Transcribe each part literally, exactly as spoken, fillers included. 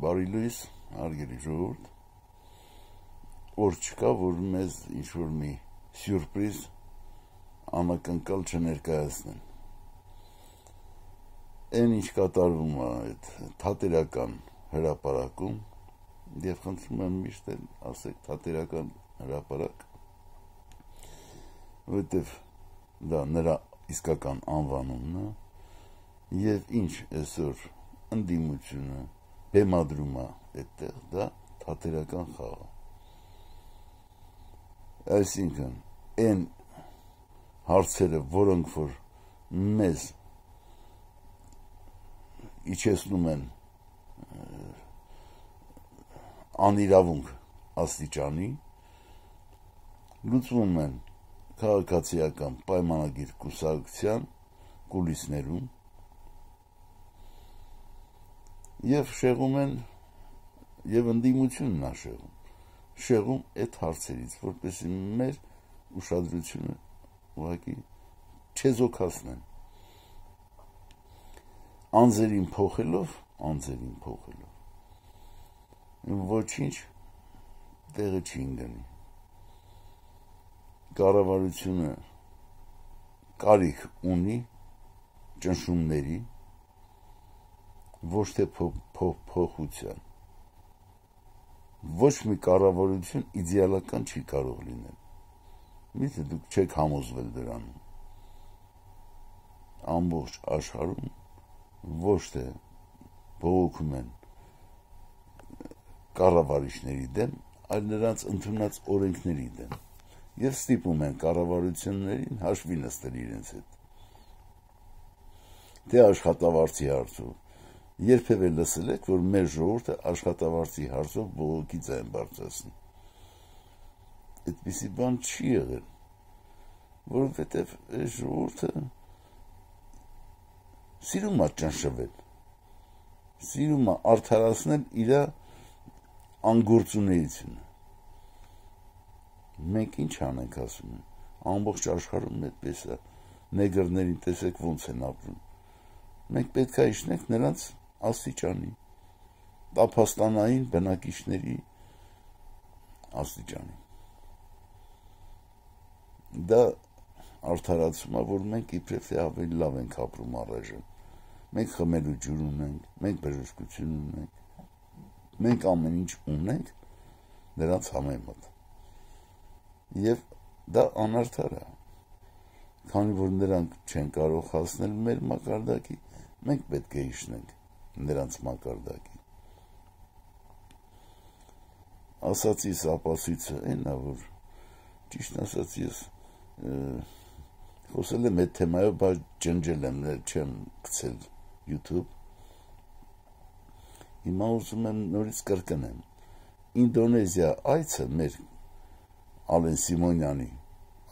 Բարի լույս, հարգելի ժողովուրդ, օր չկա, որ մեզ ինչ-որ մի սյուրպրիզ անակնկալ չներկայացնեն։ Այն ինչ կատարվում է այդ թատերական հրապարակում, եւ խնդրում եմ միշտ ասեք թատերական հրապարակ, որովհետեւ դա նրա իսկական անվանումն է, եւ ինչ այսօր ընդդիմությունը բեմադրում է այդտեղ, դա թատերական խաղ է։ Այսինքն, այն հարցերը, որոնք որ մեզ իջեցնում են անիրավունք աստիճանի, լուծվում են քաղաքացիական պայմանագիր կուսակցության կուլիսներում եւ շեղում են եւ ընդդիմությունն է շեղում շեղում այդ հարցերից, որպեսզի մեր ուշադրությունը ուղղակի չեզոքացնեն, անձերին փոխելով, անձերին փոխելով, ոչինչ տեղը չի ընկնի։ Կառավարությունը կարիք ունի ճնշումների, ոչ թե փոխության։ Ոչ մի կառավարություն իդեալական չի կարող լինել։ Միթե դուք չեք համոզվել դրանում։ Ամբողջ աշխարհում ոչ թե բողոքում են կառավարիչների դեմ, այլ նրանց ընդունած օրենքների դեմ, եւ ստիպում են կառավարություններին հաշվի նստել իրենց հետ։ Թե աշխատավարձի հարցով երբևէ լսել եք, որ մեր ժողովուրդը աշխատավարձի հարցով բողոքի ձայն բարձրացնի։ Այդպիսի բան չի եղել, որովհետև այս ժողովուրդը սիրում է ճնշվել, սիրում է արդարացնել իր անգործունեությունը։ Մենք ինչ անենք ասում են, ամբողջ աշխարհում այդպես է, նեգրներին տեսեք ոնց են ապրում։ Մենք պետք է իջնենք նրանց աստիճանի, տափաստանային բնակիչների աստիճանի։ Դա արդարացում է, որ մենք իբրև թե ավելի լավ ենք ապրում առայժմ։ Մենք խմելու ջուր ունենք, մենք բժշկություն ունենք, մենք ամեն ինչ ունենք նրանց համեմատ։ Եվ դա անարդար է, քանի որ նրանք չեն կարող հասնել մեր մակարդակի, մենք պետք է իջնենք նրանց մակարդակի։ Ասացիս ապասույցը այն է, որ ճիշտ ասած ես խոսել եմ այդ թեմայով, բայց ջնջել եմ, չեմ գցել YouTube։ Հիմա ուզում եմ նորից կրկնեմ։ Ինդոնեզիա այցը մեր Ալեն Սիմոնյանի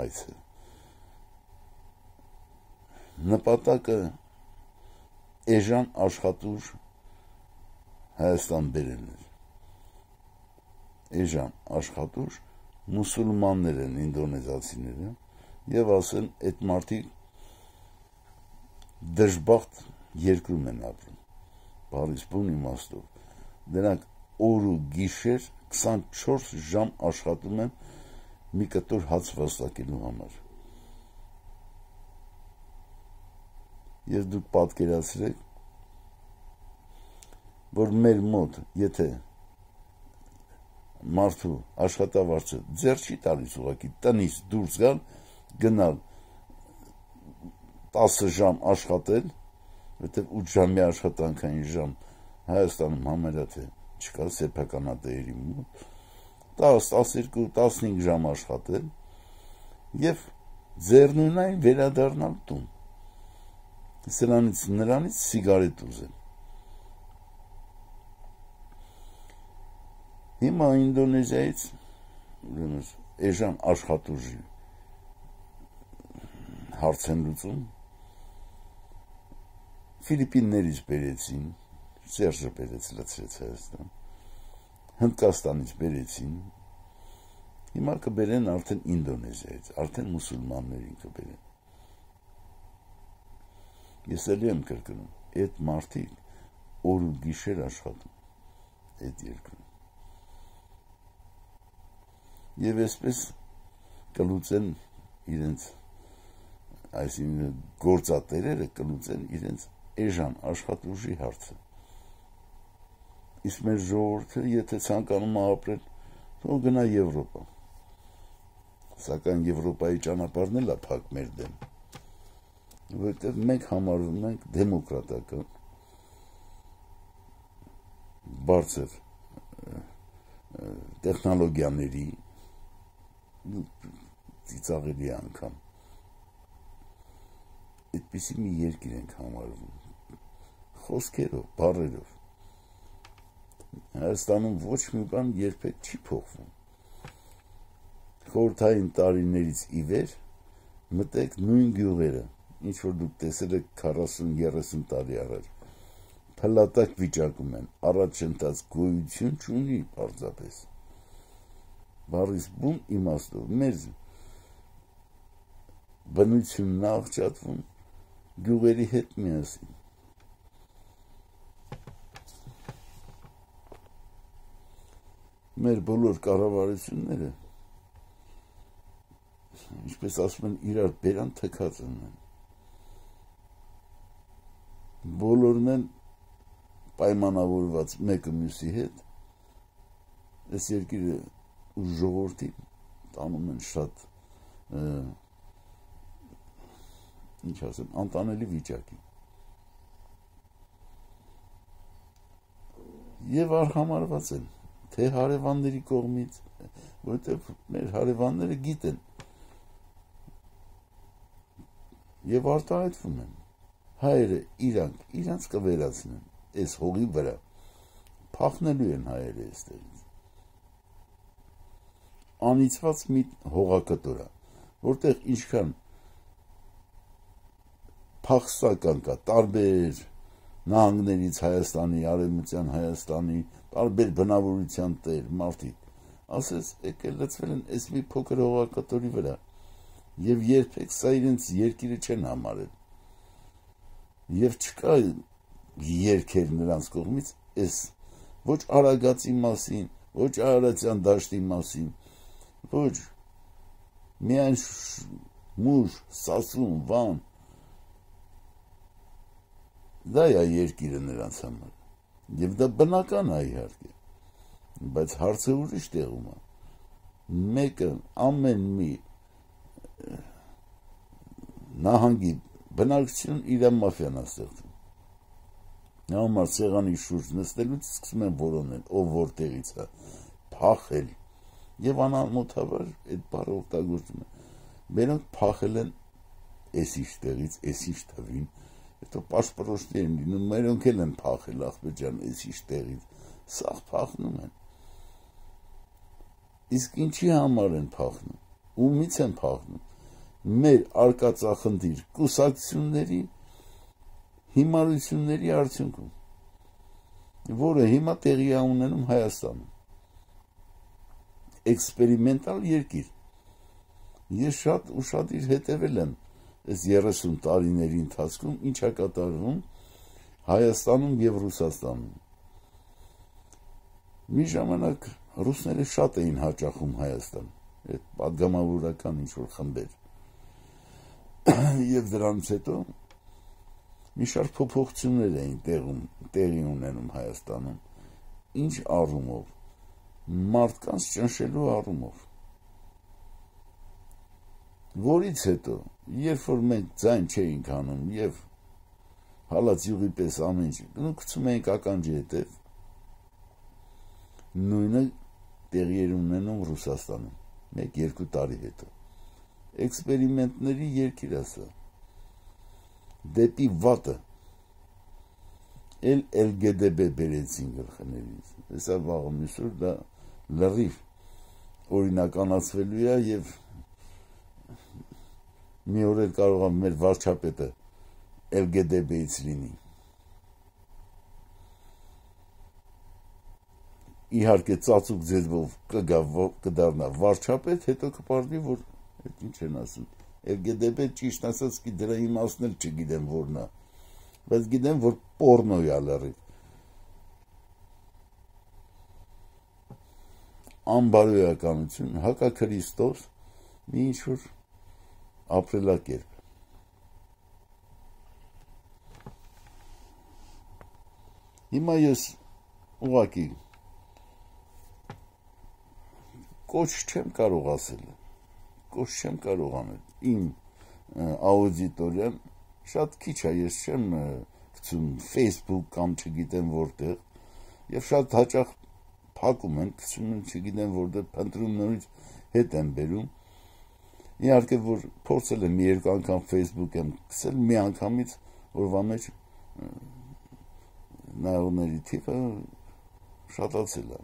այցը նպատակը էժան աշխատուժ Հայաստան բերելն էր։ Էժան աշխատուժ մուսուլմաններ են ինդոնեզացիները եւ ասեն այդ մարդիկ դժբախտ երկրում են ապրում։ Բարիս բուն իմաստով։ Նրանք օր ու գիշեր քսանչորս ժամ աշխատում են մի կտոր հաց վաստակելու համար։ Ես դուք պատկերացրեք, որ մեր մոտ, եթե մարդու աշխատավարձը ձեռ չի տալիս ուղղակի տնից դուրս գալ, գնալ տասը ժամ աշխատել, որտեղ ութ ժամի աշխատանքային ժամ Հայաստանում համարյա թե չկա սեփականատերերի մոտ, տաս, տասներկու, տասնհինգ ժամ աշխատել եւ ձեռնունայն վերադառնալ տուն։ Սրանից նրանից սիգարետ ուզել։ Հիմա Ինդոնեզիայից էժան աշխատուժի հարց են լուծում, Ֆիլիպիններից բերեցին, Սերժը բերեց լցրեց Հայաստան, Հնդկաստանից բերեցին, հիմա կբերեն արդեն Ինդոնեզիայից, արդեն մուսուլմաններին կբերեն։ Ես էլի եմ կրկնում, այդ մարդիկ օր ու գիշեր աշխատում, այդ երկրում։ Եվ այսպես կլուծեն իրենց, այսինքն գործատերերը կլուծեն իրենց էժան աշխատուժի հարցը։ Իսկ մեր ժողովուրդը, եթե ցանկանում է ապրել, թող գնա Եվրոպա։ Սակայն Եվրոպայի ճանապարհն էլ է փակ մեր դեմ, որովհետև մենք համարվում ենք դեմոկրատական, բարձր տեխնոլոգիաների, ծիծաղելի անգամ, այդպիսի մի երկիր ենք համարվում, խոսքերով, բառերով։ Հայաստանում ոչ մի բան երբեք չի փոխվում։ Խորհրդային տարիներից ի վեր մտեք նույն գյուղերը, ինչ որ դուք տեսել եք քառասուն երեսուն տարի առաջ, փլատակ վիճակում են, առաջընթաց գոյություն չունի պարզապես։ Բառից բուն իմաստով մեր բնությունն է աղճատվում գյուղերի հետ միասին։ Մեր բոլոր կառավարությունները, ինչպես ասում են, իրար բերան թքած են։ Բոլորն են պայմանավորված մեկը մյուսի հետ, այս երկիրը ու ժողովրդին տանում են շատ, ինչ ասեմ, անտանելի վիճակի։ Եվ արհամարված են, թե հարևանների կողմից, որովհետև մեր հարևանները գիտեն եւ արտահայտվում են։ Հայերը իրանք իրանք կվերացնեն այս հողի վրա, փախնելու են հայերը այստեղից։ Անիծված մի հողակտոր է, որտեղ ինչքան փախստական կա, տարբեր նահանգներից Հայաստանի, Արևմտյան Հայաստանի, տարբեր բնավորության տեր, մարդիկ, ասես եկել լծվել են այս մի փոքր հողակտորի վրա եւ երբեք սա իրենց երկիրը չեն համարել։ Եվ չկա երկեր նրանց կողմից այս ոչ Արագածի մասին, ոչ Արարատյան դաշտի մասին, ոչ միայն Մուշ, Սասուն, Վան, դա է երկիրը նրանց համար, եւ դա բնական է իհարկե, բայց հարցը ուրիշ տեղում է, մեկը ամեն մի նահանգի բնակչություն իր մաֆիան է ստեղծում, նա համար սեղանի շուրջ նստելուց սկսում են որոնել, ով որտեղից է, փախել, եւ անամոթաբար այդ բառը օգտագործում են, մերոնք փախել են էսիշ տեղից, էսիշ թվին, հետո պաշպրոշտի են լինում, մերոնք էլ են փախել ախպեջան էսիշ տեղից, սաղ փախնում են։ Իսկ ինչի համար են փախնում, ումից են փախնում, մեր արկածախնդիր կուսակցությունների հիմարությունների արդյունքում, որը հիմա տեղի է ունենում Հայաստանում, էքսպերիմենտալ երկիր, ես շատ ուշադիր հետևել եմ այս երեսուն տարիների ընթացքում ինչ է կատարվում Հայաստանում եւ Ռուսաստանում։ Մի ժամանակ ռուսները շատ էին հաճախում Հայաստան, այդ պատգամավորական ինչ-որ խմբեր, եւ դրանից հետո մի շարք փոփոխություններ էին տեղում, տեղի ունենում Հայաստանում, ինչ առումով, մարդկանց ճնշելու առումով, որից հետո, երբ որ մենք ձայն չէինք անում եւ հալած յուղի պես ամեն ինչ, գնում էինք ականջի հետև, նույնը տեղի էր ունենում Ռուսաստանում, մեկ-երկու տարի հետո, էքսպերիմենտների երկիր է սա, դեպի վատը, էլ էլ գե դե բե բերեցին գլխներից, հեսա վաղը մյուսուր դա լրիվ օրինականացվելու է եւ մի օր էլ կարող է մեր վարչապետը էլ գե դե բեից լինի։ Իհարկե ծածուկ ձեզվով կդառնա վարչապետ, հետո կպարզվի, որ այդ ինչ են ասում, էլ գե դե բե ճիշտ ասած კი դրա իմաստն էլ չգիտեմ որն է, բայց գիտեմ, որ պորնո է լրիվ։ անբարոյականություն, հակաքրիստոս մի ինչ-որ ապրելակերպ։ Հիմա ես ուղղակի կոչ չեմ կարող ասել, կոչ չեմ կարող անել, իմ աուդիտորիան շատ քիչ է, ես չեմ գցում Facebook կամ չգիտեմ որտեղ, եւ շատ հաճախ փակում են, գցում են չգիտեմ որտեղ, փնտրում նորից հետ եմ բերում, իհարկե որ փորձել եմ մի երկու անգամ Facebook եմ գցել, մի անգամից օրվա մեջ նայողների թիվը շատացել է,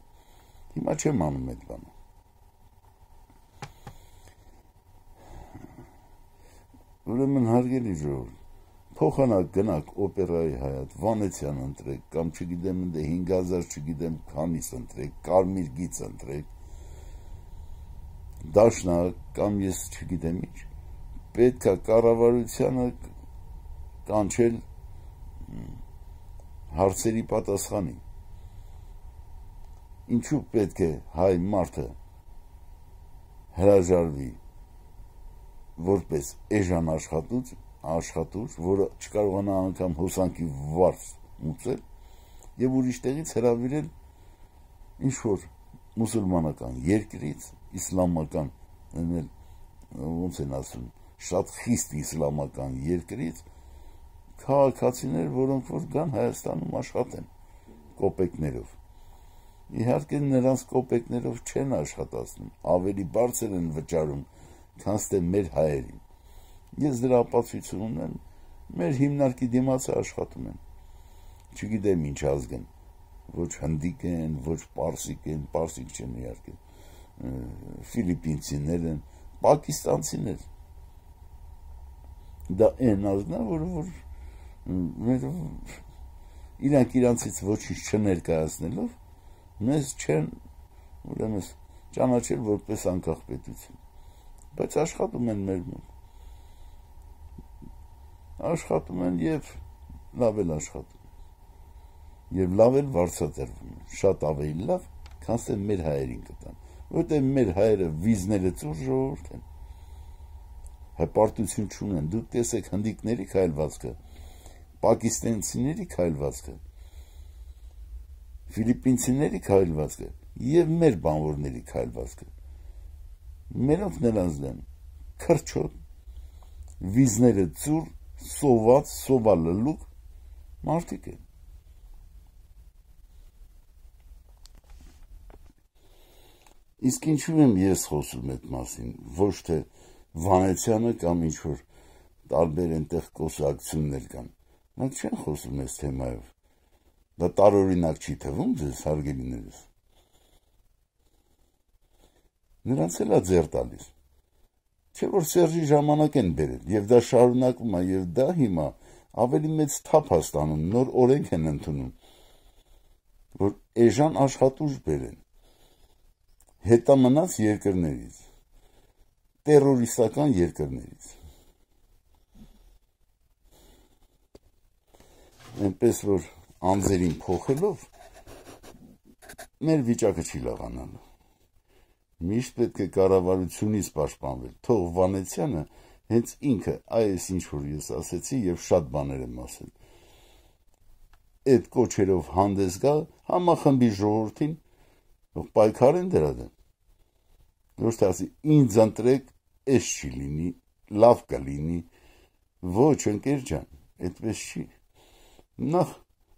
հիմա չեմ անում այդ բանը։ Ուրեմն հարգելի ժողովուրդ, փոխանակ գնաք օպերայի Հայատ, Վանեցյան ընտրեք, կամ չգիտեմ ընդ հինգ հազար չգիտեմ քանից ընտրեք, կարմիր գիծ ընտրեք, դաշնակ կամ ես չգիտեմ ինչ, պետք է կառավարությանը կանչել հարցերի պատասխանի։ Ինչու պետք է հայ մարդը հրաժարվի որպես էժան աշխատուց, աշխատուց, որը չկարողանա անգամ հոսանքի վարձ մուծել եւ ուրիշ տեղից հրավիրել ինչ-որ մուսուլմանական երկրից, իսլամական, ոնց են ասում, շատ խիստ իսլամական երկրից քաղաքացիներ, որոնք որ գան Հայաստանում աշխատեն կոպեկներով։ Իհարկե նրանց կոպեկներով չեն աշխատացնում, ավելի բարձր են վճարում, քան թե մեր հայերին։ Ես դրա ապացույցը ունեմ, մեր հիմնարկի դիմաց աշխատում են, չգիտեմ ինչ ազգ են, ոչ հնդիկ են, ոչ պարսիկ են, պարսիկ չեն իհարկե, ֆիլիպինցիներ են, պակիստանցիներ։ Դա այն ազգն է, որը որ մեր իրանք իրանցից ոչինչ չներկայացնելով, մեզ չեն ուրեմն ճանաչել որպես անկախ պետություն, բայց աշխատում են մեր մոտ, աշխատում են եւ լավ էլ աշխատում, եւ լավ էլ վարձատրվում են, շատ ավելի լավ, քան թե մեր հայերին կտան, որտեղ մեր հայերը վիզները ծուր ժողովուրդ են, հպարտություն չունեն, դուք տեսեք հնդիկների քայլվածքը, պակիստանցիների քայլվածքը, ֆիլիպինցիների քայլվածքը եւ մեր բանվորների քայլվածքը, մերոնք նրանց դեն քրչոտ, վիզները ծուր, սոված, սովալլուկ մարդիկ են։ Իսկ ինչու եմ ես խոսում այդ մասին, ոչ թե Վանեցյանը կամ ինչ-որ տարբեր այնտեղ կուսակցություններ կան, մենք չեն խոսում այս թեմայով, դա տարօրինակ չի թվում ձեզ, հարգելիներս, նրանց էլ է ձեռ տալիս, չէ որ Սերժի ժամանակ են բերել, եւ դա շարունակում է, եւ դա հիմա ավելի մեծ թափ է ստանում, նոր օրենք են ընդունում, որ էժան աշխատուժ բերեն, հետամնաց երկրներից, տերորիստական երկրներից, այնպես որ անձերին փոխելով մեր վիճակը չի լավանալու, միշտ պետք է կառավարությունից պաշտպանվել, թող Վանեցյանը հենց ինքը այս ինչ որ ես ասեցի եւ շատ բաներ եմ ասել, այդ կոչերով հանդես գա համախմբի ժողովրդին, թող պայքարեն դրա դեմ, ոչ թե ասի ինձ ընտրեք, էս չի լինի, լավ կլինի, ոչ ընկեր ջան, այդպես չի, նախ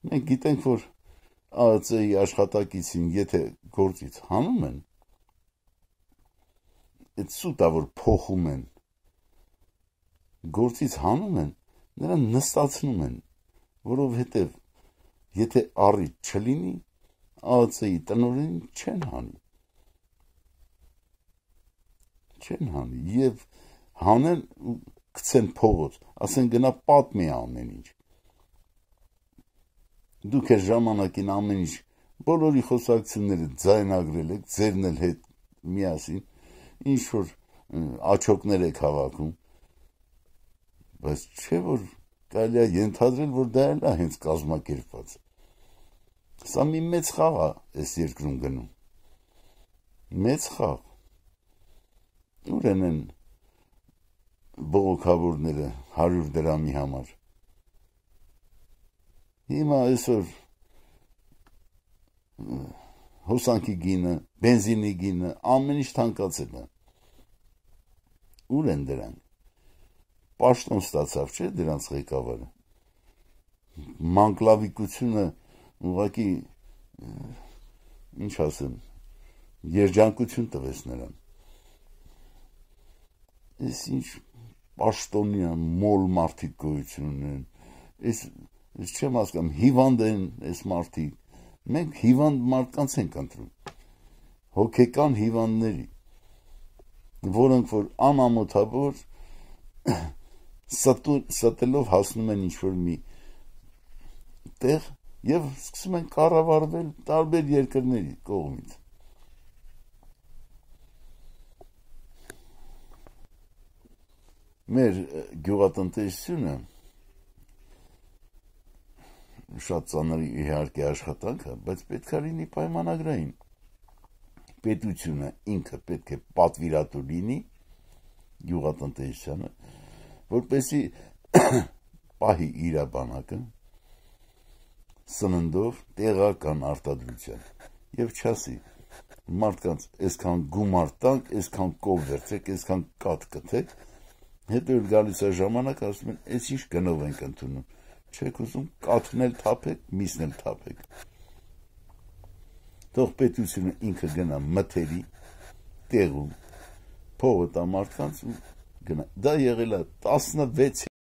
մենք գիտենք որ ԱԱԾ-ի աշխատակիցին եթե գործից հանում են, այդ սուտա որ փոխում են, գործից հանում են, նրան նստացնում են, որովհետև եթե առիթ չլինի, ԱԱԾ-ի տնօրենին չեն հանի, չեն հանի, եւ հանեն գցեն փողոց, ասեն գնա պատմի ամեն ինչ, դուք այս ժամանակին ամեն ինչ, բոլորի խոսակցությունները ձայնագրել եք, ձերն էլ հետ միասին, ինչ որ աչոկներ եք հավաքում, բայց չէ որ կարելի է ենթադրել, որ դա էլ է հենց կազմակերպված։ Սա մի մեծ խաղ է այս երկրում գնում։ մեծ խաղ։ Ուր են են բողոքավորները հարյուր դրամի համար։ Հիմա այսօր հոսանքի գինը, բենզինի գինը, ամեն ինչ թանկացել է։ Ուր են դրանք։ Պաշտոն ստացավ, չէ՞ դրանց ղեկավարը։ Մանկլավիկությունը ուղղակի ինչ ասեմ, երջանկություն տվեց նրան։ Այս ինչ պաշտոնյա մոլ մարդիկ գոյություն ունեն։ Այս ես չեմ հասկանում, հիվանդ են այս մարդիկ։ Մենք հիվանդ մարդկանց ենք ընտրում։ Հոգեկան հիվանդների, որոնք որ անամոթաբար ստելով հասնում են ինչ-որ մի տեղ և սկսում են կառավարվել տարբեր երկրների կողմից։ Մեր գյուղատնտեսությունը շատ ծանր իհարկե աշխատանք է, բայց պետք է լինի պայմանագրային։ Պետությունը ինքը պետք է պատվիրատու լինի գյուղատնտեսությանը, որպեսզի պահի իր բանակը սննդով տեղական արտադրության եւ չասի մարդկանց այսքան գումար տանք, այսքան կով վերցեք, այսքան կաթ կթեք, հետո էլ գալիս է ժամանակ, ասում են, այս ինչ գնով ենք ընդունում, չեք ուզում կաթն էլ թափեք, միսն էլ թափեք։ Թող պետությունը ինքը գնա մթերի տեղում, փողը տա մարդկանց ու գնա։ Դա եղել է տասնվեց